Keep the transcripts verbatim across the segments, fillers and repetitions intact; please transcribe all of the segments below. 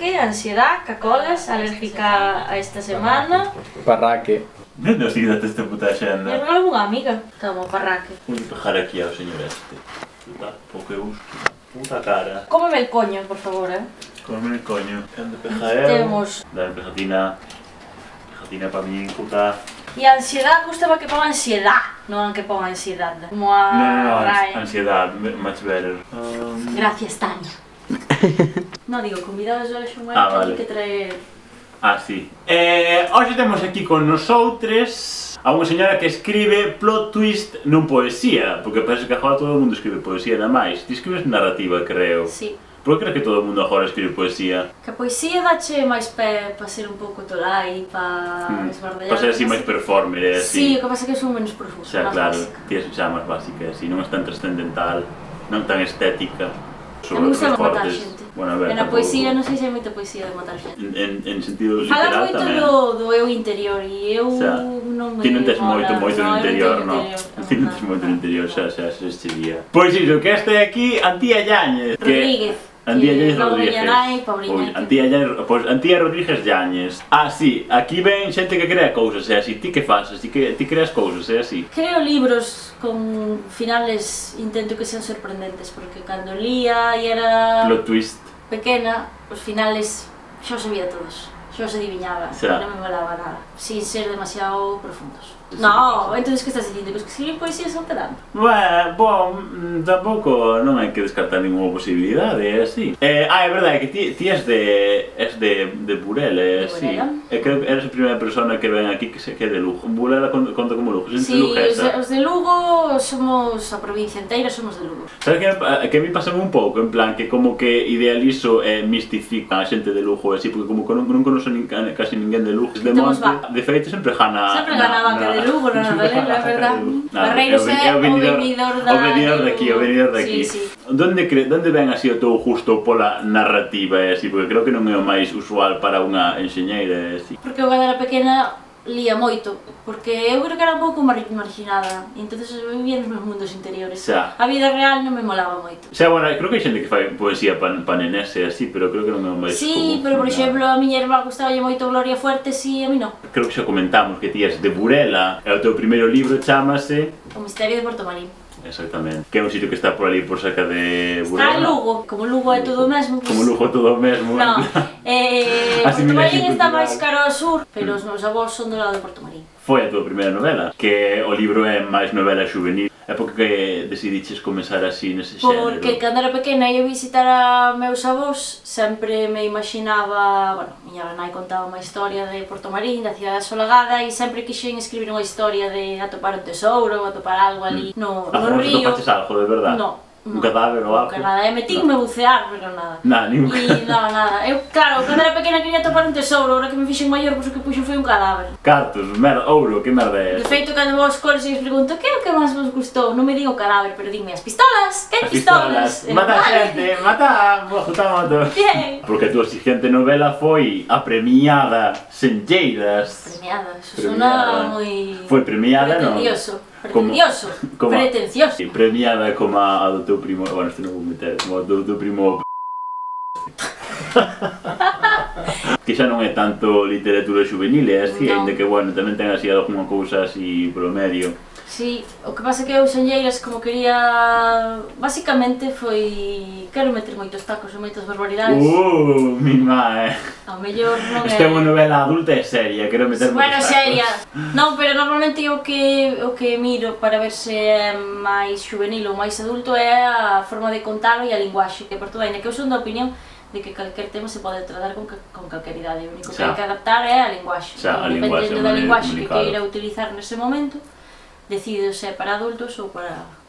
parraque, ansiedad, cacolas, alérgica a esta semana. Parraque. Non sei date esta puta E xenda. regalo unha amiga. Toma, parraque. Vou pejar aquí ao señor este. Puta, pouco eu uso. Puta cara. Cómeme el coño, por favor, eh. Come el coño. Cando peja eu. Temos. Dame pejatina. Pejatina pa min, puta. E a ansiedad, gustaba que ponga ansiedad, non que ponga ansiedad. Como a No, no, no, Ryan. ansiedad, much better. Um... Gracias, Tania. No, digo, convidados hoxe un Ah, momento vale. que traer... Ah, sí. Eh, hoxe temos aquí con nosotros a unha señora que escribe plot twist non poesía, porque parece que agora todo o mundo escribe poesía nada máis. Ti escribes narrativa, creo. Sí. Por que crees que todo o mundo agora escribe poesía? Que a poesía dache máis pé para ser un pouco tolai, para Hmm. esbardellar... Para ser así máis performer, é Sí, así. o que pasa é que son menos profuso, Xa, máis claro, básica. ti es xa máis básica, así, non é tan trascendental, non tan estética. A mí gusta Sobre matar fortes. xente. Bueno, a ver, E na tampouco- poesía non sei se hai moita poesía de matar xente. En, en, en sentido Falas literal moito tamén. do, do eu interior e eu Xa. non me Ti non tes mola. moito, moito no eu interior, teño non? interior, Ti non tes moito no interior, xa, xa, xa, xa, día. Pois iso, que este aquí, Antía Yáñez. que- Rodríguez. Antía que Yáñez logo Rodríguez. veña nai, Pauliña. Pois, Antía Yáñez, pois, Antía Rodríguez Yáñez. Ah, sí, aquí ven xente que crea cousas, é así. Ti que fas? Ti, que, ti creas cousas, é así. Creo libros con finales, intento que sean sorprendentes, porque cando lía e era Plot twist. pequena, os finales xa os sabía todos, xa os adivinhaba, Xa. e non me molaba nada, sin ser demasiado profundos. Sí, No, sí. entonces que estás dicindo? Que os que escriben poesía son pedante? Bueno, bom, mm, tampouco non hai que descartar ninguna posibilidade, é así. Eh, ah, é verdade que ti, ti és de és de de Burela, é De así. Burela. E creo que eres a primeira persona que ven aquí que se que é de Lugo. Burela conta, conta como Lugo, xente Si, os de, luguesa. os de Lugo somos a provincia inteira, somos de Lugo. Sabes que, que a mí pasa un pouco, en plan, que como que idealizo e mistifico a xente de Lugo, así, porque como que non, non conozco nin, casi ninguén de Lugo. De Temos monte, va. de feito, sempre gana... Sempre ganaban que de Lugo, non, sempre é gana verdad. de Lugo. Barreiros é o venidor da... O venidor de aquí, o venidor de aquí. Sí, sí. Donde, cre, donde ven así o teu gusto pola narrativa, é así, porque creo que non é o máis usual para unha enxeñeira, é así. Porque eu cando era pequena lía moito, porque eu creo que era un pouco mar marginada, e entonces eu vivía nos meus mundos interiores. Xa. A vida real non me molaba moito. O sea, bueno, creo que hai xente que fai poesía pa, pa nenés e así, pero creo que non é o máis Sí, común. pero por Na- exemplo, a miña irmá gustaballe moito Gloria Fuertes e a mí non. Creo que xa comentamos que ti és de Burela e o teu primeiro libro chamase... O misterio de Porto Marín. Exactamente. Que é un sitio que está por ali por cerca de Burela. Está en Lugo, como Lugo é todo o mesmo, pues... Como Lugo todo o mesmo. Non, eh, Así Porto me Marín lexo está cultural. máis caro ao sur, pero os meus avós son do lado de Porto Marín. Foi a tua primeira novela, que o libro é máis novela juvenil. É porque decidiches comenzar así nese xénero. Porque cando era pequena ia visitar a meus avós, sempre me imaginaba, bueno, miña nai contaba unha historia de Porto Marín, da cidade asolagada, e sempre quixen escribir unha historia de atopar un tesouro, atopar algo ali no, Ah, no non río. topaches algo, de verdad? No. Un cadáver ou algo? Que nada, e metín-me a bucear, pero nada. Nada, ningún E nada, nada. Eu, claro, cando era pequena quería atopar un tesouro, ahora que me fixen maior, pois o que puxo foi un cadáver. Cartos, merda, ouro, que merda é De esa? feito, cando vos coles e os pregunto que é o que máis vos gustou, non me digo cadáver, pero dime as pistolas, que As pistolas? pistolas, mata xente, mata, bota moto. Bien. Porque a tua siguiente novela foi a premiada Senlleiras. Premiada, eso Premiada. sona moi... Foi premiada, non? Pretendioso, Como- pretendioso, como- pretencioso. Sí, premiada como a, a do teu primo, bueno, este non vou meter, como a do teu primo que xa non é tanto literatura juvenil, é así, Non. ainda que, bueno, tamén ten así algunha cousa así polo medio. Sí, o que pasa é que eu Senlleiras como quería... Basicamente foi... Quero meter moitos tacos e moitas barbaridades. Uh, mi má, eh. Ao mellor non é... Esta é unha novela adulta e seria, quero meter Bueno, moitos seria. tacos. Non, pero normalmente o que o que miro para ver se é máis juvenil ou máis adulto é a forma de contalo e a linguaxe, que por todo ainda que eu son da opinión de que calquer tema se pode tratar con, con calquer idade, o único que Xa. hai que adaptar é a linguaxe. Xa, a Entón, linguaxe, dependendo a da maneira de linguaxe que comunicalo. queira utilizar nese momento, decido se é para adultos ou para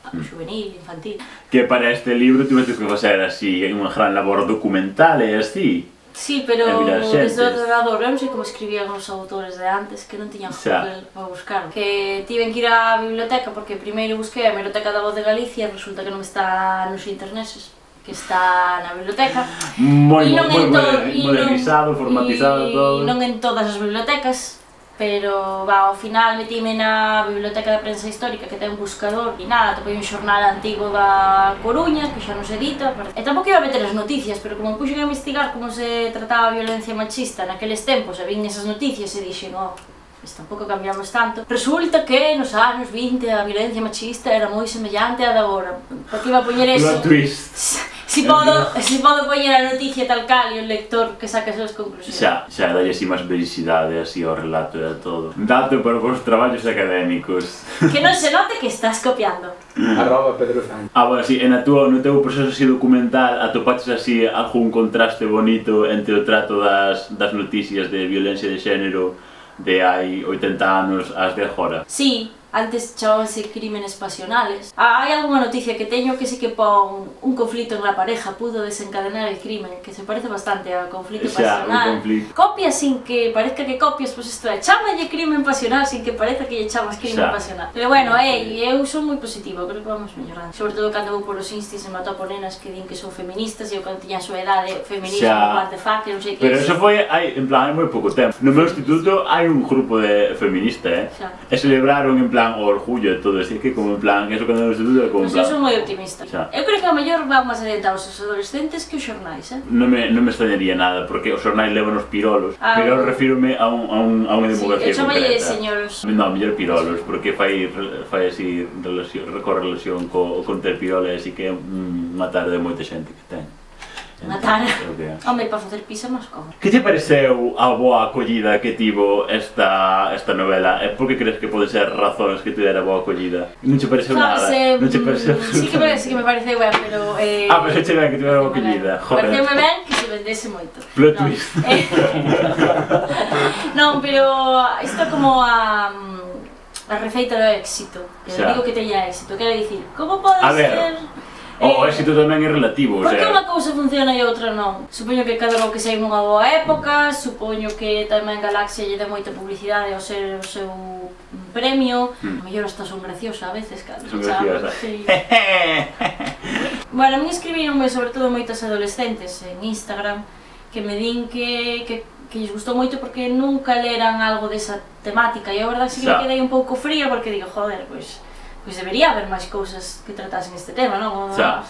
Mm. juvenil, infantil. Que para este libro tiveste que facer así unha gran labor documental e así. Sí, pero E mirar xentes. desde o ordenador, eu non sei como escribían os autores de antes que non tiñan Xa. Google para buscar. Que tiven que ir á biblioteca porque primeiro busquei a Hemeroteca da Voz de Galicia e resulta que non está nos interneses, que está na biblioteca. Moi, E moi, non moi en to- moder- e non- modernizado, formatizado e todo. non en todas as bibliotecas, pero va, ao final metime na Biblioteca da Prensa Histórica, que ten un buscador, e nada, topei un xornal antigo da Coruña, que xa non se edita, e tampouco iba a meter as noticias, pero como me puxen a investigar como se trataba a violencia machista naqueles tempos, e vin esas noticias e dixen, oh, pues tampouco cambiamos tanto. Resulta que nos anos vinte a violencia machista era moi semellante á da agora. Por que iba a poñer eso? Plot twist. Si podo, si podo poñer a noticia tal cal e o lector que saque as súas conclusións. Xa, xa dalle así máis vericidade así ao relato e a todo. Dato para os traballos académicos. Que non se note que estás copiando. Arroba Pedro Sánchez. Ah, bueno, sí, en a túa, no teu proceso así documental atopaches así algún contraste bonito entre o trato das, das noticias de violencia de xénero de hai oitenta anos ás de agora? Sí, antes chamábanse crímenes pasionales. Ah, hai algunha noticia que teño que sí que pon un conflito en la pareja pudo desencadenar el crimen, que se parece bastante ao conflito Xa, pasional. un conflito. Copias sin que parezca que copias, pois pues isto é, chámalle crimen pasional sin que parezca que lle chamas crimen Xa. pasional. Pero bueno, ei, eu son moi positiva, creo que vamos mellorando. Sobre todo cando vou polos instis e me atopo nenas que din que son feministas e eu cando tiña a súa edade, feminismo, Xa. what the fuck, que non sei que Pero eso foi, hai, en plan, hai moi pouco tempo. No meu instituto hai un grupo de feminista, eh? Xa. E celebraron en plan o orgullo e todo, así que como en plan, eso cando no instituto é como en Pois eu plan... son moi optimista. Xa. Eu creo que a mellor van máis adiantados os adolescentes que os xornais, eh? Non me, non me extrañaría nada, porque os xornais levan os pirolos. Ah, Pirolos refírome a, un, a, un, a unha Sí, demografía eu chamalle concreta. señoros. Non, mellor pirolos, porque fai, fai así relación, correlación co, con ter pirola, así que é mm, unha tarde de moita xente que ten. Matar. Entón, creo que- Home, para facer pizza máis como. Que te pareceu a boa acollida que tivo esta, esta novela? E por que crees que pode ser razóns que tivera boa acollida? Non che pareceu nada? Sabes, Non che pareceu sí que me, sí que me pareceu ben, pero... Eh, Ah, pero che ben que tivera boa acollida, joder. Pareceume ben que se vendese moito. Plot Non, twist. eh, non, pero isto é como a... a receita do éxito. Que Xa. digo que teña éxito, quero dicir, como pode A ver, ser... O eh, éxito tamén é relativo, o Por que sea... unha cousa funciona e outra non? Supoño que cada que sei nunha boa época, supoño que tamén Galaxia lle dá moita publicidade ao ser o seu premio, Mm. a mellor hasta son graciosa a veces, cando Son chaman, graciosa. sí. Bueno, a mí escribironme sobre todo moitas adolescentes en Instagram que me din que, que, que lles gustou moito porque nunca leran algo desa temática e a verdade sí que Xa. me quedei un pouco fría porque digo, joder, pois, pois debería haber máis cousas que tratasen este tema, non? Xa.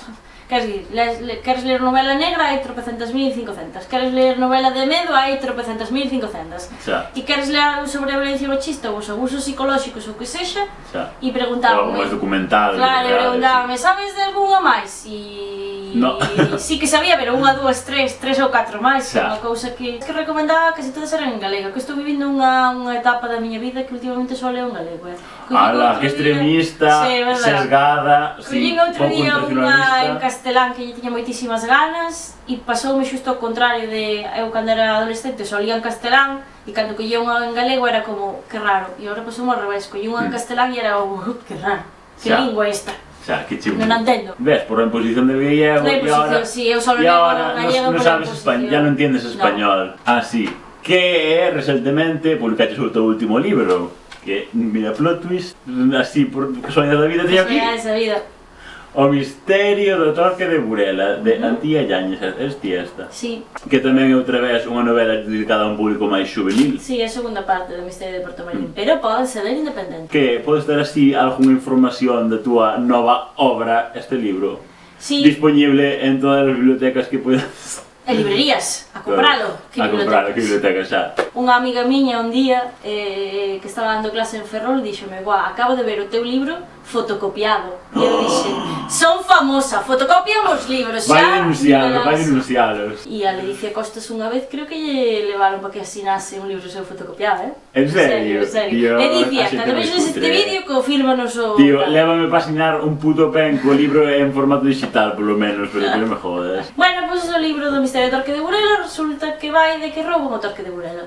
Queres, le, le, queres ler novela negra, hai tropecentas mil cincocentas. Queres ler novela de medo, hai tropecentas mil cincocentas. Xa, E queres ler algo sobre a violencia machista ou os abusos psicolóxicos ou que sexa, xa. e Algo preguntábame. máis documental. Claro, e real, preguntábame, sabes de algunha máis? E... No. sí que sabía, pero unha, dúas, tres, tres ou catro máis, que é Xa. unha cousa que, que recomendaba casi todas eran en galega, que estou vivindo unha, unha etapa da miña vida que últimamente só leo en galego, eh. Collín Ala, outro que día- extremista, Sí, verdad. sesgada, Collín sí, outro pouco día unha en internacionalista. castelán que lle tiña moitísimas ganas e pasoume xusto ao contrario de eu cando era adolescente só lía en castelán e cando collía unha en galego era como que raro e agora pasoume ao revés, collía unha en Mm. castelán e era como uh, que raro, que Xa. lingua esta, Xa, que chungo. non a entendo. Ves, por la imposición de gallego La y ahora... imposición, sí, eu só y leo ahora gallego no, no por la sabes imposición. español, ya no entiendes español. Ah, sí. Que recentemente publicaste o teu último libro, que, mira, plot twist, así por casualidad da vida, teño aquí. Xa, esa vida. O misterio do torque de Burela, de Antía Yáñez, es ti esta. Sí, Que tamén é outra vez unha novela dedicada a un público máis juvenil. sí, é a segunda parte do Misterio de Porto Marín, pero pode ser independente. Que podes ter así algunha información da túa nova obra, este libro, Sí, disponible en todas as bibliotecas que podes... e librerías, a compralo. Que a compralo, que biblioteca xa. Unha amiga miña un día eh, que estaba dando clase en Ferrol díxome, guau, acabo de ver o teu libro fotocopiado. E eu dixe, son famosa, fotocopiamos libros, xa. Vai denuncialos, verás. vai denuncialos. E a Leticia Costas unha vez creo que lle levaron para que asinase un libro seu fotocopiado, eh? En serio? En serio. Tío, Leticia, a xente cando moi vexes este cutre. vídeo, confírmanos o... Tío, tal. lévame para asinar un puto pen co libro en formato digital, polo menos, pero que non me jodas. Bueno, pois pues, o libro do Misterio de Torque de Burela resulta que vai de que rouban o Torque de Burela.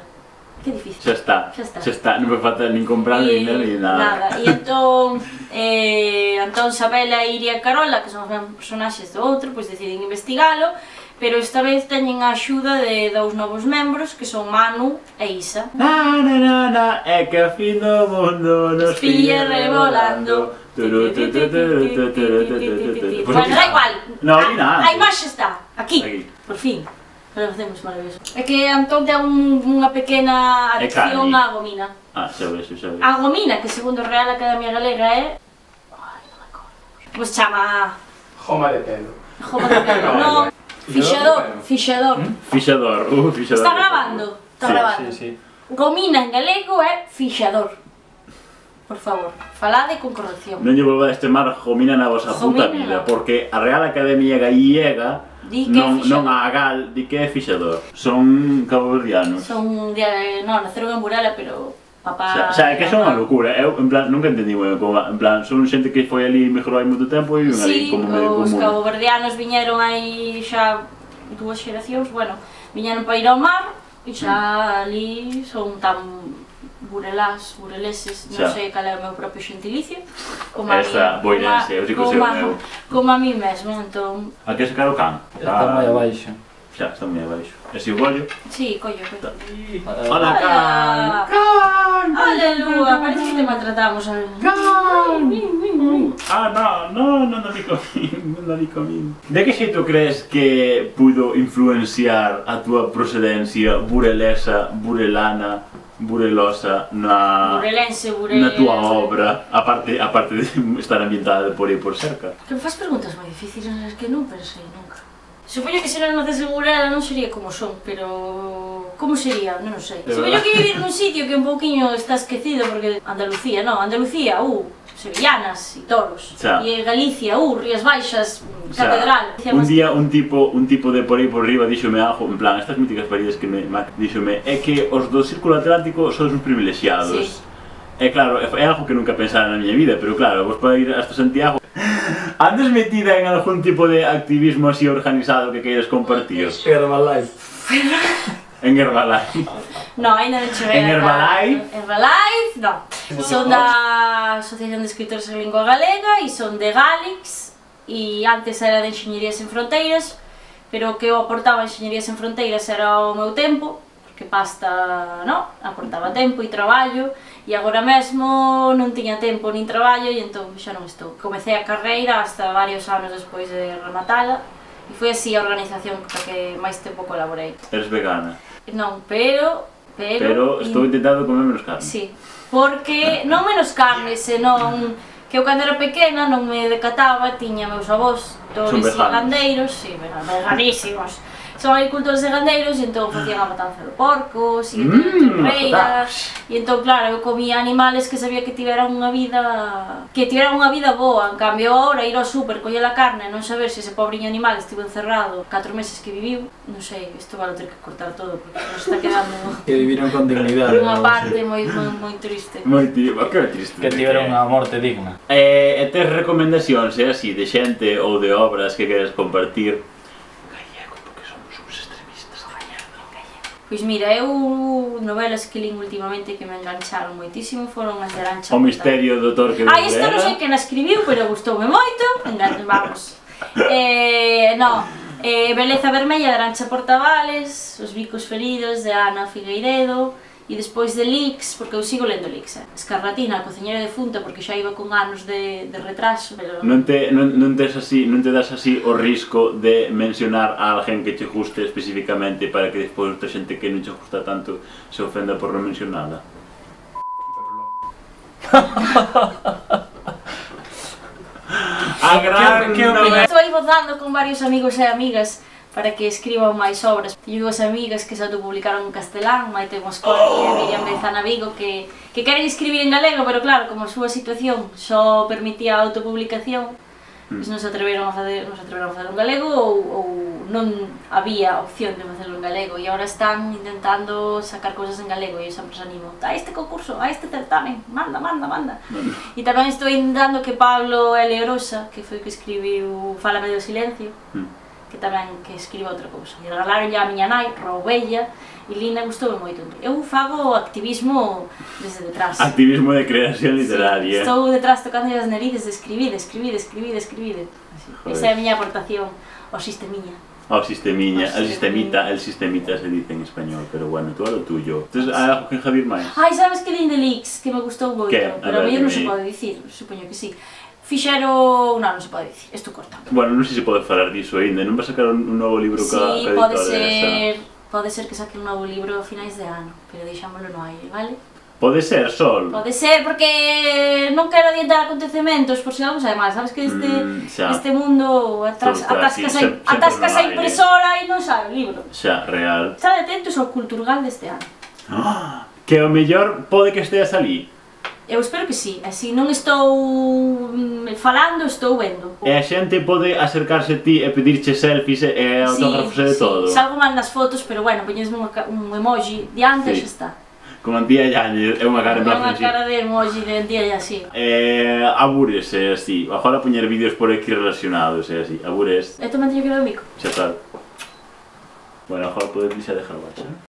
Que difícil. Xa está, Xa está. xa está, non me falta nin comprar, E nin nada, nin nada. nada. E entón, eh, Antón Sabela e Iria Carola, que son os mesmos personaxes do outro, pois deciden investigalo, pero esta vez teñen a axuda de dous novos membros, que son Manu e Isa. Na, na, na, na, é que a fin do mundo nos Pilla revolando. Turu, tu, tu, tu, tu, tu, tu, tu, tu, tu, tu. Pues Bueno, aquí da está. igual. No, A- ni nada. A imaxe está, aquí, Aquí. por fin. pero facemos maravilloso. É que Antón ten un, unha pequena adicción á gomina. Ah, xa ves, xa ves. A gomina, que segundo a Real Academia Galega é... Ai, non me acordo. Pois chama... Joma de pelo. Joma de pelo, non. Fixador, fixador. Fixador, uh, fixador. Está grabando? Está grabando. Sí, sí. Gomina en galego é fixador. Por favor, falade con corrección. Non lle volvades chamar gomina na vosa puta vida, porque a Real Academia Gallega non, non a Gal di que é fixador. Son caboverdianos. Son de... non, naceron en Burela, pero... papá... O sea, é que son unha locura, eu en plan, nunca entendí moi ben como, en plan, son xente que foi ali e mejorou hai moito tempo e viven ali como medio común. Sí, os caboverdianos viñeron aí xa dúas xeracións, bueno, viñeron para ir ao mar e xa ali son tan burelás, bureleses, non sei cal é o meu propio xentilicio, como a mí, boirense, eu digo seu meu. Como a mí mesmo, entón... A que sacar o can? Está moi abaixo. Xa, está moi abaixo. E si o gollo? Sí, collo, collo. Hola, can! Can! Aleluya, parece que te maltratamos. Can! Ah, no, no, non di comín, non di comín. De que xeito crees que pudo influenciar a túa procedencia burelesa, burelana, burelosa na... Burelense, burel... na túa obra, aparte, aparte de estar ambientada por aí por cerca? Que me faz preguntas moi difíciles nas que non pensei nunca. Supoño que se non nacese Burela non sería como son, pero... como sería? Non o sei. Supoño que vivir nun sitio que un pouquiño está esquecido, porque Andalucía, non, Andalucía, uh, sevillanas e toros. E Galicia, uh, Rías Baixas, catedral. Un día un tipo, un tipo de por aí por riba díxome algo, en plan, estas míticas paridas que me díxome, é que os do Círculo Atlántico son uns privilexiados. Sí. É claro, é algo que nunca pensara na miña vida, pero claro, vos pode ir hasta Santiago. Andes metida en algún tipo de activismo así organizado que queiras compartir? Herbalife. En Herbalife? No, ainda non cheguei. En Herbalife? Herbalife, non. Son da Asociación de Escritores en Lingua Galega e son de Galix e antes era de Enxeñerías Sen Fronteiras, pero o que eu aportaba a Enxeñerías Sen Fronteiras era o meu tempo, porque pasta, non? Aportaba tempo e traballo e agora mesmo non tiña tempo nin traballo e entón xa non estou. Comecei a carreira hasta varios anos despois de rematala e foi así a organización para que máis tempo colaborei. Eres vegana? Non, pero... Pero, pero estou intentando comer menos carne. Sí, porque non menos carne, senón que eu cando era pequena non me decataba, tiña meus avós todos e gandeiros, sí, veganísimos. Son agricultores e gandeiros e entón facían a matanza do porco, e mmm, torreiras, e entón claro, eu comía animales que sabía que tiveran unha vida que tiveran unha vida boa, en cambio agora ir ao súper, coller a carne e non saber se ese pobriño animal estivo encerrado catro meses que viviu, non sei, isto vale ter que cortar todo porque nos está quedando que viviron con dignidade, unha parte moi, moi, moi triste. Moi triste. Que tiveron unha morte digna. E tes recomendacións, é así, de xente ou de obras que queres compartir? Pois mira, eu novelas que lín últimamente que me engancharon moitísimo foron as de Arantxa O misterio do Torque de Burela. Ah, isto non sei quen a escribiu, pero gustoume moito, engancho, vamos. Eh, no, eh, Beleza Vermella de Arantxa Portavales, Os bicos feridos de Ana Figueiredo e despois de Lix, porque eu sigo lendo Lix, eh. Escarlatina, a cociñera defunta, porque xa iba con anos de, de retraso, pero... Non te, non, non, tes así, non te das así o risco de mencionar a alguén que che guste especificamente para que despois outra xente que non che gusta tanto se ofenda por non mencionada? A gran... Estou aí votando con varios amigos e amigas para que escriban máis obras. Teño dúas amigas que se autopublicaron en castelán, Maite Mosconi e Miriam Beizana Vigo, que, que queren escribir en galego, pero claro, como a súa situación só permitía a autopublicación, mm. pois non se atreveron a facer, non se atreveron a facer en galego ou, ou non había opción de facerlo en galego e agora están intentando sacar cousas en galego e eu sempre os animo a este concurso, a este certamen, manda, manda, manda. Mm. E tamén estou intentando que Pablo L. Orosa, que foi que escribiu Fálame do silencio, mm. que tamén que escriba outra cousa. E regalaron a miña nai, roubella, e Lina gustoume moito. Eu fago activismo desde detrás. Activismo de creación literaria. Sí, estou detrás tocando as narices de escribir, escribir, escribir, escribir. Esa é a miña aportación ao sistemiña. Ao sistemiña, el sistemita, el sistemita se dice en español, pero bueno, tú a lo tuyo. Entonces, hai algo que enjadir máis? Ai, sabes que lin de Lix, que me gustou moito, que? pero a mí non se pode dicir, supoño que sí. fixeron... non, non se pode dicir, isto corta. Bueno, non sei se pode falar diso aínda, non vai sacar un novo libro ca, Sí, ca pode editora ser... esa? Pode ser que saque un novo libro a finais de ano, pero deixámoslo no aire, vale? Pode ser, Sol? Pode ser, porque non quero adiantar acontecementos, por si algo sabe mal, sabes que este, Mm, xa. este mundo atras, Todo está atascas, así, a, sempre- sempre atascas no a aire. impresora e non sabe o libro. Xa, real. Estad atentos ao Culturgal deste ano. Ah, que o mellor pode que esteas ali. Eu espero que sí, e se non estou mm, falando, estou vendo. E a xente pode acercarse a ti e pedirche selfies e autógrafos e de todo. Salgo mal nas fotos, pero bueno, poñesme un emoji diante Sí. e xa está. Como Antía Yañez, é unha cara en É plan unha así. cara de emoji de día e así. Eh, abures e así. Agora poñer vídeos por aquí relacionados e así. Abures, E tamén teño que ver o mico. xa tal. Bueno, agora podes xa dejar baixa.